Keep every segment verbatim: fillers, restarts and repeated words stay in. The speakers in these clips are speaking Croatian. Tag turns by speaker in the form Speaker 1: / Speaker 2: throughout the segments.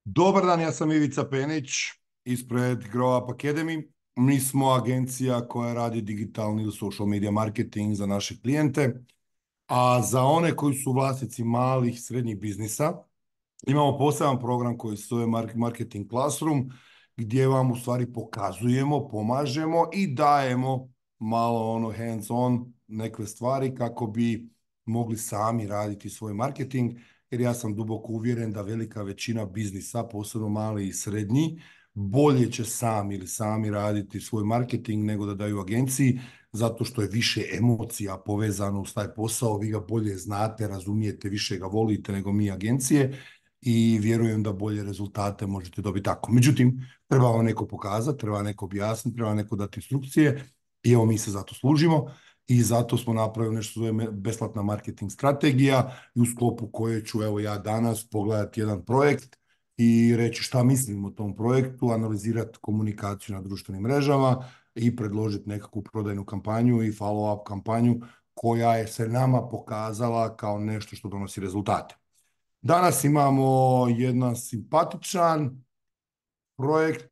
Speaker 1: Dobar dan, ja sam Ivica Penić ispred Grow Up Academy. Mi smo agencija koja radi digitalni ili social media marketing za naše klijente, a za one koji su vlasnici malih i srednjih biznisa imamo poseban program koji se zove Marketing Classroom, gdje vam u stvari pokazujemo, pomažemo i dajemo malo ono hands on neke stvari kako bi mogli sami raditi svoj marketing, jer ja sam duboko uvjeren da velika većina biznisa, posebno mali i srednji, bolje će sami ili sami raditi svoj marketing nego da daju agenciji, zato što je više emocija povezano uz taj posao, vi ga bolje znate, razumijete, više ga volite nego mi agencije i vjerujem da bolje rezultate možete dobiti tako. Međutim, treba vam neko pokazati, treba neko objasniti, treba neko dati instrukcije i evo mi se zato služimo i zato smo napravili nešto što zove besplatna marketing strategija i u sklopu koje ću evo ja danas pogledati jedan projekt i reći šta mislim o tom projektu, analizirati komunikaciju na društvenim mrežama i predložiti nekakvu prodajnu kampanju i follow-up kampanju koja je se nama pokazala kao nešto što donosi rezultate. Danas imamo jedan simpatičan projekt,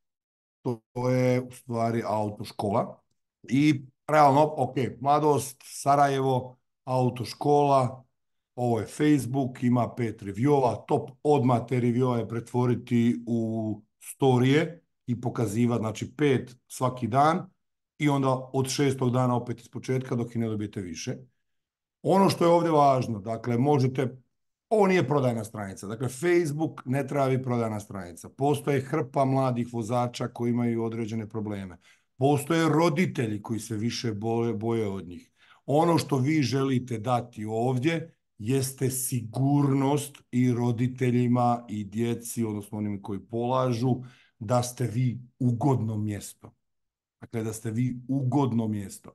Speaker 1: to je u stvari autoškola i realno, ok, mladost, Sarajevo, autoškola, ovo je Facebook, ima pet reviewova, top odmah te reviewove pretvoriti u storije i pokazivati, znači pet svaki dan i onda od šestog dana opet iz početka dok i ne dobijete više. Ono što je ovdje važno, dakle, možete, ovo nije prodajna stranica, dakle, Facebook ne treba biti prodajna stranica. Postoje hrpa mladih vozača koji imaju određene probleme. Postoje roditelji koji se više boje, boje od njih. Ono što vi želite dati ovdje jeste sigurnost i roditeljima i djeci, odnosno onima koji polažu, da ste vi ugodno mjesto. Dakle, da ste vi ugodno mjesto.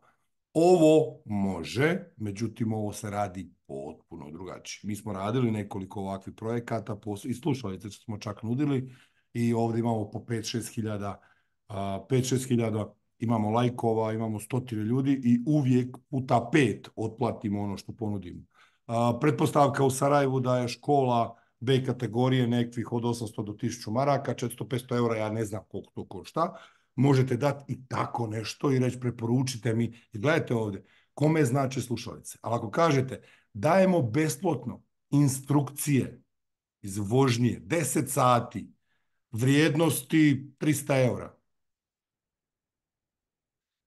Speaker 1: Ovo može, međutim ovo se radi potpuno drugačije. Mi smo radili nekoliko ovakvih projekata i slušalice smo čak nudili i ovdje imamo po pet šest hiljada, pet šest hiljada imamo lajkova, imamo stotine ljudi i uvijek puta pet otplatimo ono što ponudimo. Pretpostavka u Sarajevu da je škola B kategorije nekvih od osamsto do tisuću maraka, četiristo petsto eura, ja ne znam koliko to košta. Možete dati i tako nešto i reći preporučite mi. I gledajte ovdje, kome znači slušalice. Ali ako kažete dajemo besplatno instrukcije iz vožnje, deset sati, vrijednosti tristo eura.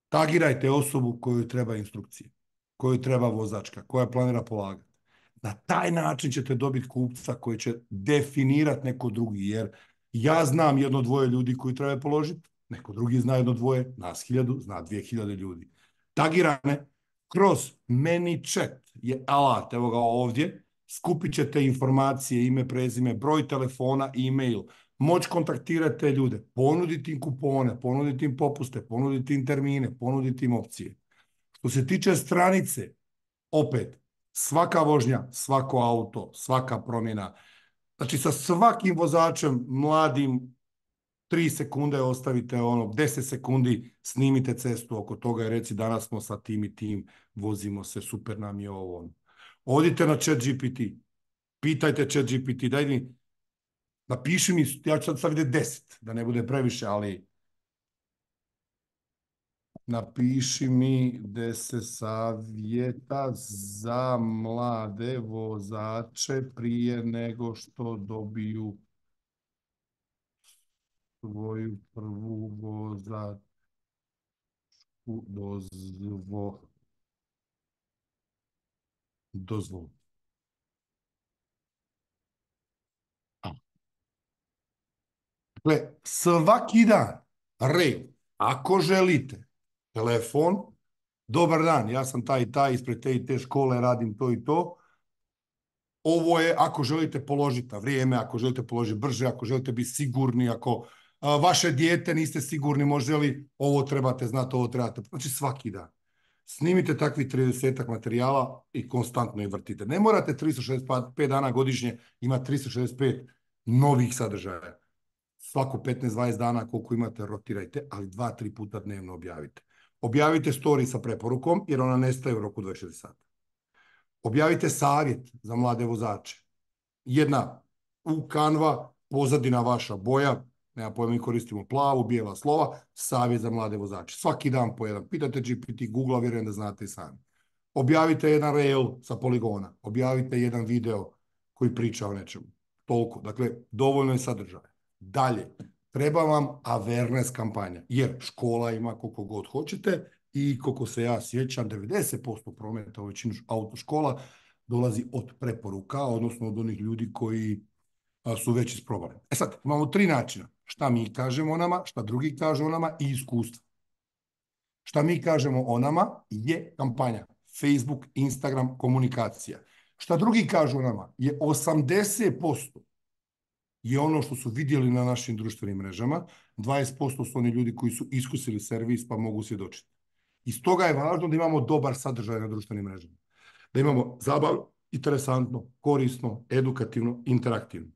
Speaker 1: Tagirajte osobu koju treba instrukcije, koju treba vozačka, koja planira polagati. Na taj način ćete dobiti kupca koji će definirati neko drugi, jer ja znam jedno dvoje ljudi koji treba položiti, neko drugi zna jedno dvoje, nas hiljadu, zna dvije hiljade ljudi. Tagirane kroz ManyChat je alat, evo ga ovdje, skupit ćete informacije, ime, prezime, broj telefona, e-mail, moć kontaktirati te ljude, ponuditi im kupone, ponuditi im popuste, ponuditi im termine, ponuditi im opcije. Što se tiče stranice, opet, svaka vožnja, svako auto, svaka promjena. Znači sa svakim vozačem mladim tri sekunde ostavite ono, deset sekundi snimite cestu oko toga i reci danas smo sa tim i tim, vozimo se, super nam je ovo. Odite na ChatGPT, pitajte ChatGPT, daj mi, napiši mi, ja ću sad staviti deset, da ne bude previše, ali napiši mi deset savjeta za mlade vozače prije nego što dobiju svoju prvu vozačku dozvo, dozvolu. Dakle, svaki dan, red, ako želite, telefon, dobar dan, ja sam taj i taj, ispred te i te škole, radim to i to. Ovo je ako želite položiti na vrijeme, ako želite položiti brže, ako želite biti sigurni, ako a, vaše dijete niste sigurni, može li ovo trebate znati, ovo trebate. Znači svaki dan. Snimite takvih tridesetak materijala i konstantno ih vrtite. Ne morate tristo šezdeset pet dana godišnje imati tristo šezdeset pet novih sadržaja. Svako petnaest dvadeset dana koliko imate rotirajte, ali dva tri puta dnevno objavite. Objavite story sa preporukom jer ona nestaje u roku dvadeset četiri sata. Objavite savjet za mlade vozače. Jedna u Canva pozadina vaša boja, nema pojma, mi koristimo plavu, bijela slova, savjet za mlade vozače. Svaki dan po jedan. Pitate G P T, Google, vjerujem da znate i sami. Objavite jedan reel sa poligona, objavite jedan video koji priča o nečemu. Toliko. Dakle, dovoljno je sadržaja. Dalje, treba vam awareness kampanja, jer škola ima koliko god hoćete i koliko se ja sjećam, devedeset posto prometa u većinu autoškola dolazi od preporuka, odnosno od onih ljudi koji a, su već isprobali. E sad, imamo tri načina. Šta mi kažemo o nama, šta drugi kažu o nama i iskustva. Šta mi kažemo o nama je kampanja. Facebook, Instagram, komunikacija. Šta drugi kažu o nama je osamdeset posto je ono što su vidjeli na našim društvenim mrežama, dvadeset posto su oni ljudi koji su iskusili servis pa mogu svjedočiti. I stoga je važno da imamo dobar sadržaj na društvenim mrežama. Da imamo zabavno, interesantno, korisno, edukativno, interaktivno.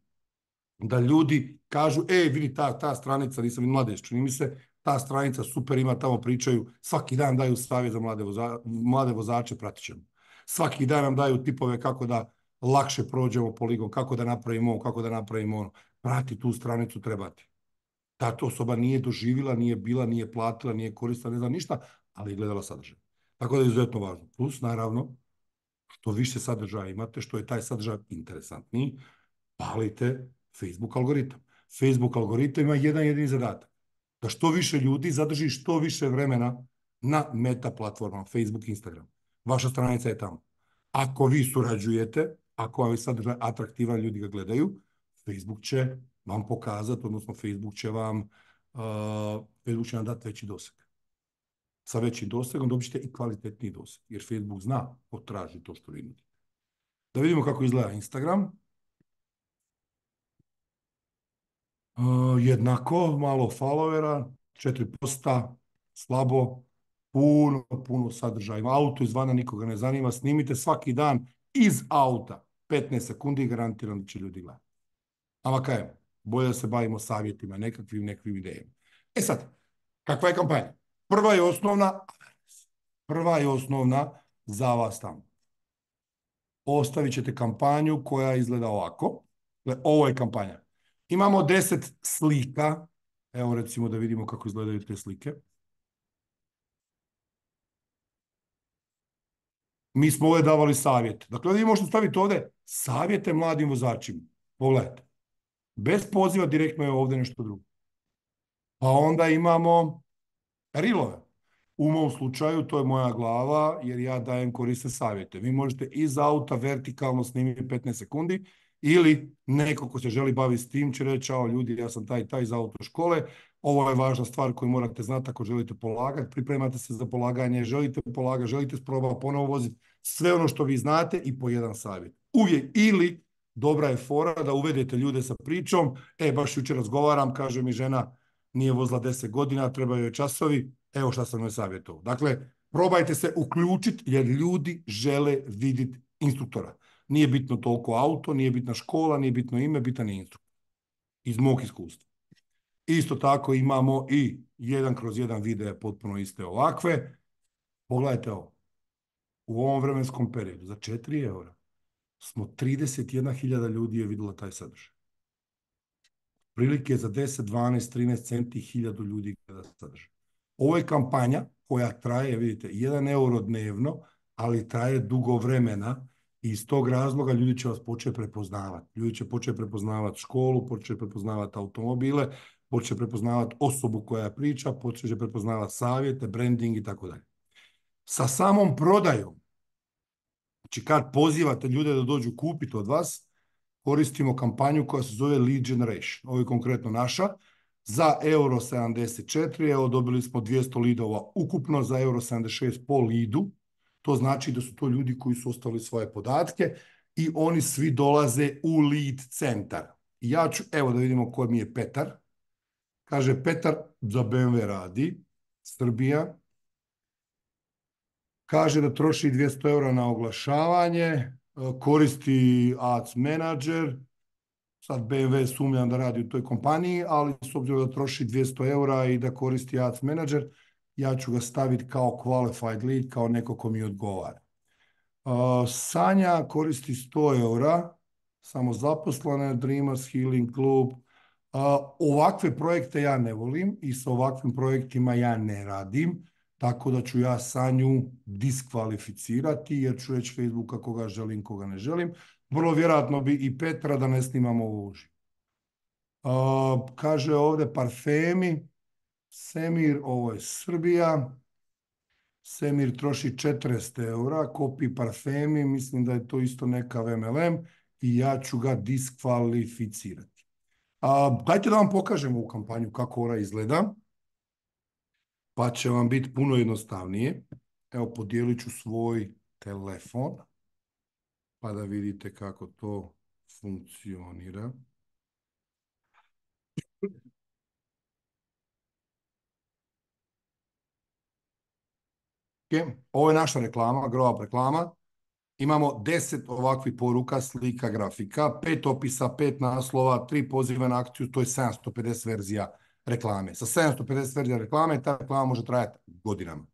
Speaker 1: Da ljudi kažu, e, vidi ta, ta stranica, nisam vidio mladež, čini mi se, ta stranica super ima, tamo pričaju, svaki dan daju savjet za mlade, voza, mlade vozače, pratit ćemo. Svaki dan nam daju tipove kako da lakše prođemo poligon, kako da napravimo ovo, kako da napravimo ono. Prati tu stranicu, trebati. Ta osoba nije doživjela, nije bila, nije platila, nije koristila, ne znam ništa, ali je gledala sadržaj. Tako da je izuzetno važno. Plus, naravno, što više sadržaja imate, što je taj sadržaj interesantniji, palite Facebook algoritam. Facebook algoritam ima jedan jedini zadatak. Da što više ljudi zadrži što više vremena na meta platformama, Facebook, Instagram. Vaša stranica je tamo. Ako vi surađujete, ako vam je sadržaj atraktivan, ljudi ga gledaju, Facebook će vam pokazati, odnosno Facebook će vam, uh, Facebook će vam dati veći doseg. Sa većim dosegom dobit ćete i kvalitetniji doseg, jer Facebook zna ko traži to što vi nudite. Da vidimo kako izgleda Instagram. Uh, jednako, malo followera, četiri posta, slabo, puno, puno sadržaja. Auto izvana nikoga ne zanima, snimite svaki dan iz auta, petnaest sekundi i garantiram da će ljudi gledati. Ama kajem, bolje da se bavimo savjetima, nekakvim, nekakvim idejama. E sad, kakva je kampanja? Prva je osnovna, prva je osnovna za vas tamo. Ostavit ćete kampanju koja izgleda ovako. Ovo je kampanja. Imamo deset slika. Evo recimo da vidimo kako izgledaju te slike. Mi smo ovdje davali savjet. Dakle, ovdje možete staviti ovdje savjete mladim vozačima. Pogledajte. Bez poziva direktno je ovdje nešto drugo. Pa onda imamo rilove. U mom slučaju to je moja glava jer ja dajem korisne savjete. Vi možete iz auta vertikalno snimiti petnaest sekundi ili neko ko se želi baviti s tim će reći, čao ljudi, ja sam taj taj iz autoškole, ovo je važna stvar koju morate znati ako želite polagati, pripremate se za polaganje, želite polagati, želite sprobati ponovo voziti, sve ono što vi znate i po jedan savjet. Uvijek ili dobra je fora da uvedete ljude sa pričom, e baš jučer razgovaram, kaže mi žena nije vozila deset godina, trebaju joj časovi, evo šta sam joj savjetovao. Dakle, probajte se uključiti jer ljudi žele vidjeti instruktora. Nije bitno toliko auto, nije bitna škola, nije bitno ime, bitan je instruktor. Iz mog iskustva. Isto tako imamo i jedan kroz jedan videa potpuno iste ovakve. Pogledajte ovo. U ovom vremenskom periodu za četiri eura smo trideset jedna hiljada ljudi je vidjela taj sadržaj. Prilike za deset, dvanaest, trinaest centi hiljadu ljudi gleda sadržaj. Ovo je kampanja koja traje, vidite, jedan euro dnevno, ali traje dugo vremena i iz tog razloga ljudi će vas početi prepoznavati. Ljudi će početi prepoznavati školu, početi prepoznavati automobile, početi prepoznavati osobu koja priča, početi prepoznavati savjete, branding i tako dalje. Sa samom prodajom, znači kad pozivate ljude da dođu kupiti od vas, koristimo kampanju koja se zove Lead Generation. Ovo je konkretno naša. Za euro sedamdeset četiri, evo dobili smo dvjesto lidova ukupno, za euro sedamdeset šest po lidu. To znači da su to ljudi koji su ostavili svoje podatke i oni svi dolaze u lead centar. Ja ću, evo da vidimo ko mi je Petar. Kaže Petar za B M W radi, Srbija. Kaže da troši dvjesto eura na oglašavanje, koristi Ads Manager. Sad B M W sumnjam da radi u toj kompaniji, ali s obzirom da troši dvjesto eura i da koristi Ads Manager, ja ću ga staviti kao qualified lead, kao neko ko mi odgovara. Uh, Sanja koristi sto eura, samo zaposlene, Dreamers Healing Club, Ovakve projekte ja ne volim i sa ovakvim projektima ja ne radim, tako da ću ja Sanju diskvalificirati jer ću reći Facebooka koga želim, koga ne želim. Vrlo vjerojatno bi i Petra da ne snimamo ovo uživo. Kaže ovdje parfemi, Semir, ovo je Srbija. Semir troši četrdeset eura, kopi parfemi, mislim da je to isto neka M L M i ja ću ga diskvalificirati. A, dajte da vam pokažem ovu kampanju kako ona izgleda, pa će vam biti puno jednostavnije. Evo, podijelit ću svoj telefon, pa da vidite kako to funkcionira. Okay. Ovo je naša reklama, Grow Up reklama. Imamo deset ovakvih poruka, slika, grafika, pet opisa, pet naslova, tri poziva na akciju, to je sedamsto pedeset verzija reklame. Sa sedamsto pedeset verzija reklame ta reklama može trajati godinama.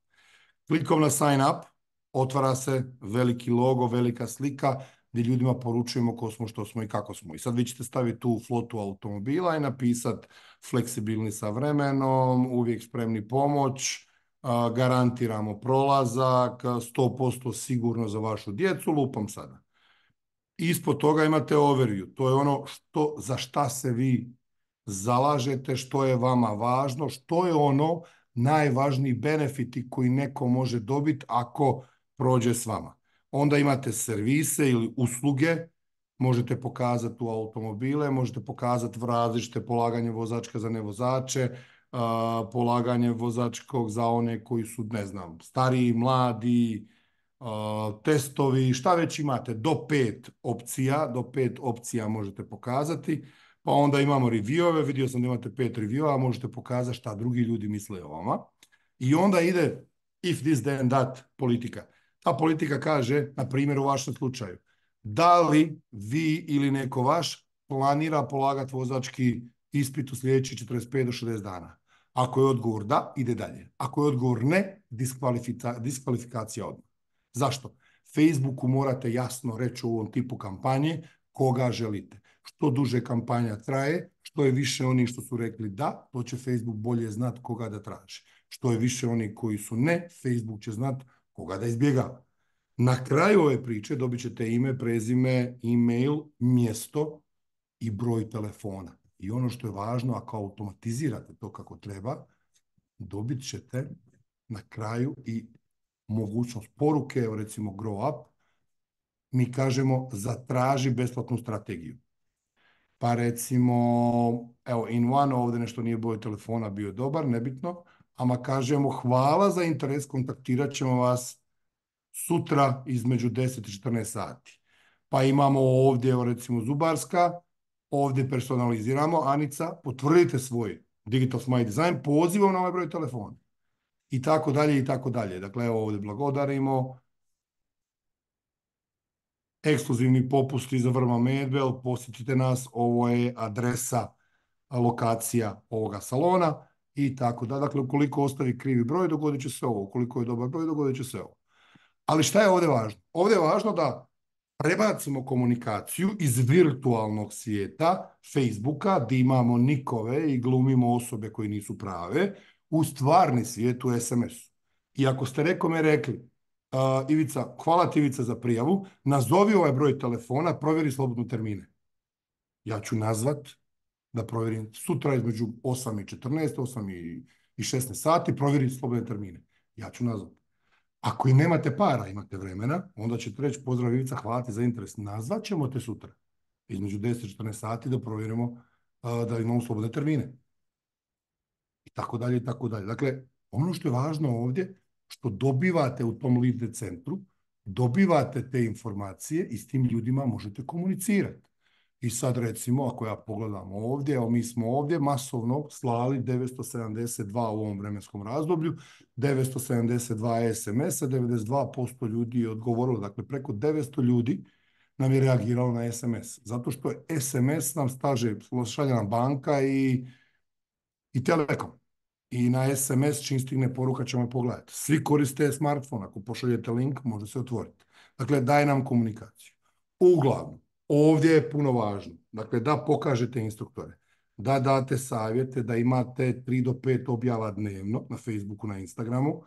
Speaker 1: Klikom na sign up, otvara se veliki logo, velika slika, gdje ljudima poručujemo ko smo, što smo i kako smo. I sad vi ćete staviti tu flotu automobila i napisati fleksibilni sa vremenom, uvijek spremni pomoć, garantiramo prolazak, sto posto sigurno za vašu djecu, lupam sada. Ispod toga imate overview, to je ono što, za šta se vi zalažete, što je vama važno, što je ono najvažniji benefiti koji neko može dobiti ako prođe s vama. Onda imate servise ili usluge, možete pokazati u automobile, možete pokazati različite polaganje vozačka za nevozače, Uh, polaganje vozačkog za one koji su, ne znam, stariji, mladi, uh, testovi, šta već imate, do pet opcija, do pet opcija možete pokazati, pa onda imamo review-ove, vidio sam da imate pet review-a, možete pokazati šta drugi ljudi misle o vama. I onda ide if this then that politika. Ta politika kaže, na primjer u vašem slučaju, da li vi ili neko vaš planira polagati vozački ispit u sljedećih četrdeset pet do šezdeset dana. Ako je odgovor da, ide dalje. Ako je odgovor ne, diskvalifika, diskvalifikacija odmah. Zašto? Facebooku morate jasno reći u ovom tipu kampanje koga želite. Što duže kampanja traje, što je više onih što su rekli da, to će Facebook bolje znati koga da traži. Što je više onih koji su ne, Facebook će znati koga da izbjegava. Na kraju ove priče dobit ćete ime, prezime, e-mail, mjesto i broj telefona. I ono što je važno, ako automatizirate to kako treba, dobit ćete na kraju i mogućnost poruke, evo recimo Grow Up, mi kažemo zatraži besplatnu strategiju. Pa recimo, evo in one, ovdje nešto nije broj telefona bio dobar, nebitno, ama kažemo hvala za interes, kontaktirat ćemo vas sutra između deset i četrnaest sati. Pa imamo ovdje, evo recimo Zubarska, ovdje personaliziramo, Anica, potvrdite svoj Digital Smile Design pozivom na ovaj broj telefona. I tako dalje, i tako dalje. Dakle, evo ovdje blagodarimo. Ekskluzivni popusti za Vrba Medvel, posjetite nas, ovo je adresa, lokacija ovoga salona i tako da. Dakle, ukoliko ostavi krivi broj, dogodit će se ovo. Ukoliko je dobar broj, dogodit će se ovo. Ali šta je ovdje važno? Ovdje je važno da prebacimo komunikaciju iz virtualnog svijeta, Facebooka, gdje imamo nikove i glumimo osobe koje nisu prave, u stvarni svijet u es em esu. I ako ste rekome rekli, uh, Ivica, hvala ti Ivica za prijavu, nazovi ovaj broj telefona, provjeri slobodno termine. Ja ću nazvat da provjerim sutra između osam i četrnaest, osam i šesnaest sati, provjeri slobodne termine. Ja ću nazvat. Ako i nemate para, imate vremena, onda ćete reći pozdrav Ivica, hvala ti za interes. Nazvat ćemo te sutra između deset i četrnaest sati da provjerimo uh, da imamo slobodne termine. I tako dalje, i tako dalje. Dakle, ono što je važno ovdje, što dobivate u tom lead centru, dobivate te informacije i s tim ljudima možete komunicirati. I sad recimo, ako ja pogledam ovdje, evo mi smo ovdje masovno slali devetsto sedamdeset dva u ovom vremenskom razdoblju, devetsto sedamdeset dva es em es-a, devedeset dva posto ljudi je odgovorilo, dakle preko devetsto ljudi nam je reagiralo na es em es. Zato što je es em es nam staže, šalje nam banka i, i Telekom. I na es em es čim stigne poruka ćemo pogledati. Svi koriste smartphone, ako pošaljete link može se otvoriti. Dakle, daje nam komunikaciju. Uglavnom, ovdje je puno važno, dakle, da pokažete instruktore. da date savjete, da imate tri do pet objava dnevno na Facebooku, na Instagramu,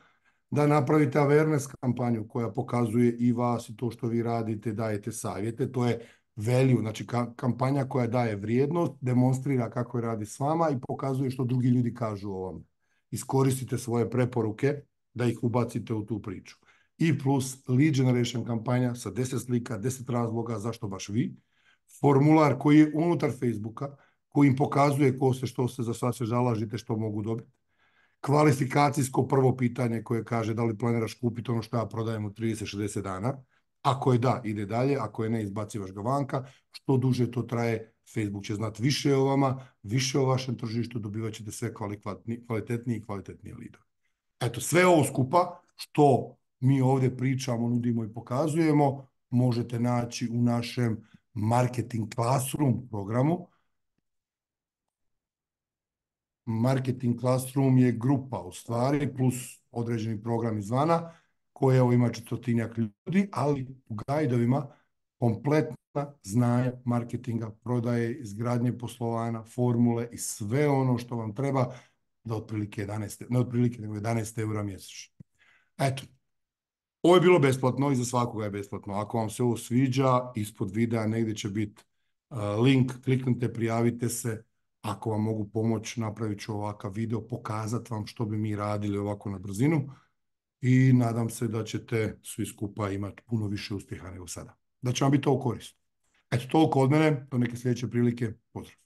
Speaker 1: da napravite awareness kampanju koja pokazuje i vas i to što vi radite, dajete savjete. To je value, znači ka kampanja koja daje vrijednost, demonstrira kako je radi s vama i pokazuje što drugi ljudi kažu o vam. Iskoristite svoje preporuke da ih ubacite u tu priču. I plus lead generation kampanja sa deset slika, deset razloga zašto baš vi. Formular koji je unutar Facebooka, koji im pokazuje ko ste, što ste, za šta se zalažete, što mogu dobiti. Kvalifikacijsko prvo pitanje koje kaže da li planiraš kupiti ono što ja prodajem u trideset do šezdeset dana. Ako je da, ide dalje. Ako je ne, izbacivaš ga vanka. Što duže to traje, Facebook će znati više o vama, više o vašem tržištu, dobivat ćete sve kvalitetnije i kvalitetnije lidove. Eto, sve ovo skupa što mi ovdje pričamo, nudimo i pokazujemo, možete naći u našem Marketing Classroom programu. Marketing Classroom je grupa u stvari, plus određeni program izvana, koji evo ima četvrtinjak ljudi, ali u gajdovima kompletna znanja marketinga, prodaje, izgradnje poslovanja, formule i sve ono što vam treba da otprilike jedanaest, ne otprilike, nego jedanaest eura mjesečno. Eto, ovo je bilo besplatno i za svakoga je besplatno. Ako vam se ovo sviđa, ispod videa negdje će biti uh, link, kliknite, prijavite se. Ako vam mogu pomoći, napravit ću ovakav video, pokazati vam što bi mi radili ovako na brzinu i nadam se da ćete svi skupa imati puno više uspjeha nego sada. Da će vam biti to u korist. Eto, toliko od mene, do neke sljedeće prilike. Pozdrav.